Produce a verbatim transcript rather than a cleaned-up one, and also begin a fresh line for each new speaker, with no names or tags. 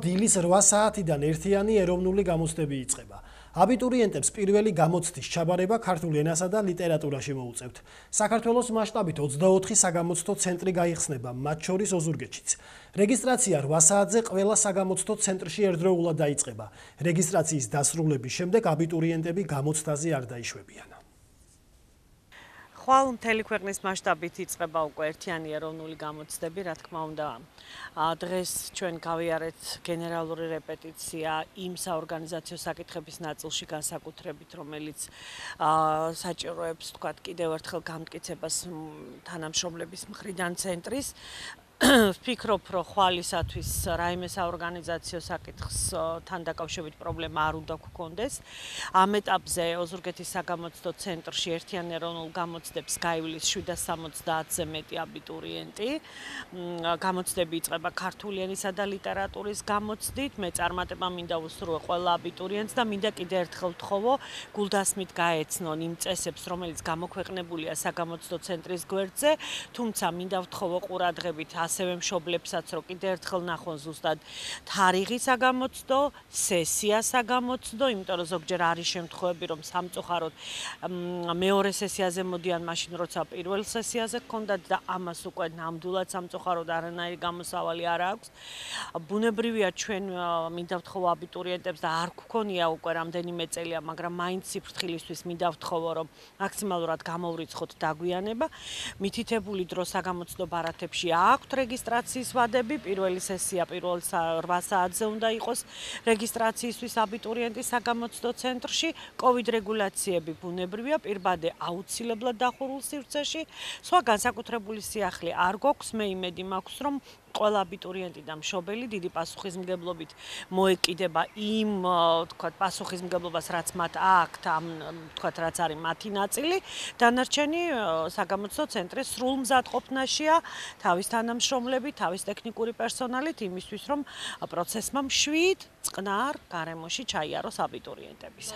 დილის რვა საათიდან ერთიანი ეროვნული გამოცდები იწყება. აბიტურიენტებს პირველი გამოცდის ჩაბარება ქართულ ენასა და ლიტერატურაში მოუწევთ. საქართველოს მასშტაბით ოცდაოთხი საგამოცდო ცენტრი გაიხსნება, მათ შორის ოზურგეთშიც. რეგისტრაცია რვა საათზე ყველა საგამოცდო ცენტრში ერთდროულად დაიწყება. რეგისტრაციის დასრულების შემდეგ აბიტურიენტები გამოცდაზე არ დაიშვებიან.
ხვალ მთელი ქვეყნის მასშტაბით იწყება უკვე ერთიანი ეროვნული გამოცდები, რა თქმა უნდა. დღეს ჩვენ გავიარეთ გენერალური რეპეტიცია იმ საორგანიზაციო საკითხების ნაწილში განსაკუთრებით, რომელიც საჭიროებს, თქვათ, კიდევ ერთხელ გამტკიცებას თანამშრომლების მხრიდან ცენტრის. ვფიქრობ, რომ ხვალისათვის რაიმე საორგანიზაციო საკითხთან დაკავშირებით პრობლემა არ უნდა გქონდეს. ამ ეტაპზე ოზურგეთის საგამოცდო ცენტრში ერთიან ეროვნულ გამოცდებს გაივლის შვიდას სამოცდაათზე მეტი აბიტურიენტი. გამოცდები იწყება ქართული ენისა და ლიტერატურის გამოცდით. მე წარმატება მინდა უსურვო ყველა აბიტურიენტს და მინდა კიდევ ერთხელ ვთხოვო, გულდასმით გაეცნონ იმ წესებს, რომელიც გამოქვეყნებულია საგამოცდო ცენტრის გვერდზე, თუმცა მინდა ვთხოვო ყურადღებით ასევე მშობლებსაც, რომ კიდევ ერთხელ ნახონ ზუსტად თარიღი საგამოცდო, სესია საგამოცდო, იმიტომ რომ ზოგჯერ არის შემთხვევები, რომ სამწუხაროდ მეორე სესიაზე მოდიან მაშინ, როცა პირველ სესიაზე გქონდათ და ამას უკვე ნამდვილად სამწუხაროდ არანაირი გამოსავალი არ აქვს. ბუნებრივია, ჩვენ მინდა ვთხოვო აბიტურიენტებს და არ გქონია უკვე რამდენიმე წელია, მაგრამ მაინც სიფრთხილისთვის მინდა ვთხოვო, რომ მაქსიმალურად გამოვრიცხოთ დაგვიანება. მითითებული დრო საგამოცდო ბარათებში აქვთ რეგისტრაციის ვადები, პირველი სესია პირველ რვა საათზე უნდა იყოს რეგისტრაციისთვის აბიტურიენტის საგამოცდო ცენტრში. კოვიდ რეგულაციები ბუნებრივია, პირბადე აუცილებლად დახურულ სივრცეში. სხვა განსაკუთრებული სიახლე არ გვაქვს, მე იმედი მაქვს, რომ ყველა აბიტურიენტი და მშობელი დიდი პასუხისმგებლობით მოეკიდება იმ, თქვათ, პასუხისმგებლობას, რაც მათ აქვთ, ამ, თქვათ, რაც არის მათი ნაწილი. დანარჩენი საგამოცდო ცენტრის სრულ მზადყოფნაშია თავის თანამშრომლები, თავის ტექნიკური პერსონალით იმისთვის, რომ პროცესმა მშვიდ, წყნარ გარემოში ჩაიაროს აბიტურიენტების.